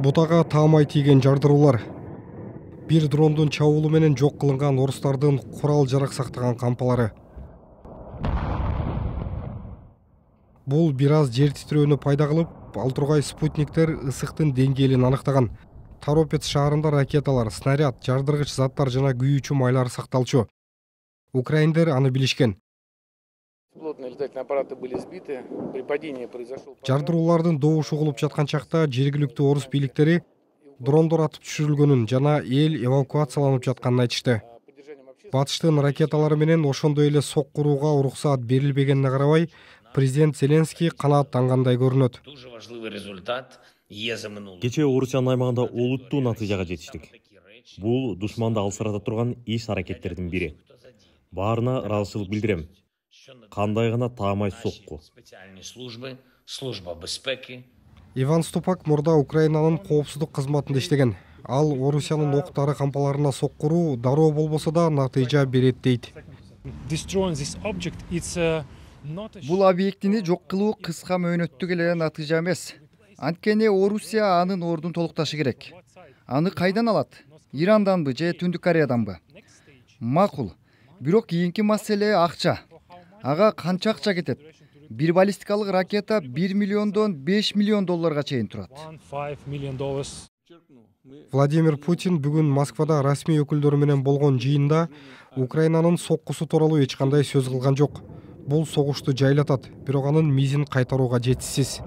Бутага таамай тийген жардыруулар. Бир дрондун чабуулу менен жок кылынган орустардын курал жарак сактаган кампалары. Бул бир аз жер титирөөнү пайда кылып, ал тургай спутниктер ысыктын деңгээлин анықтаган. Торопец шаарында ракеталар, снаряд, жардыргыч заттар жана күйүүчү майлар сакталчу. Украиндер аны билишкен. Жардыруулардын добушу угулуп жаткан чакта жергиликтүү орус бийликтери дрондор атып түшүрүлгөнүн жана эл эвакуацияланып жатканын айтышты. Батыштын ракеталары менен ошондой эле сок курууга уруксаат берилбегенине карабай, президент Зеленский канааттангандай көрүнөт. Кечээ Орусиянын аймагында олуттуу натыйжага жетиштик. Бул душманды алсырата турган иш-аракеттердин бири. Баарына ыраазычылык билдирем. Кандай гана таамай сокку. Иван Ступак мурда Украинанын коопсуздук кызматында иштеген. Ал Орусиянын октары кампаларына сок куруу дароо болбосо да натыйжа берет дейт. Бул объектини жок кылуу кыска мөөнөттүк эле натыйжа эмес. Анткени Орусия анын ордун толукташы керек. Аны кайдан алат? Иранданбы же Түндүк Кореяданбы? Макул. Бирок кийинки маселе акча. Ага канча акча кетет? Бир баллистикалык ракета 1 миллиондон 5 миллион долларга чейин турат. Владимир Путин бүгүн Москвада расмий өкүлдөрү менен болгон жыйында Украинанын соккусу тууралуу эч кандай сөз кылган жок. Бул согушту жайлатат, бирок анын мизин кайтарууга жетишсиз.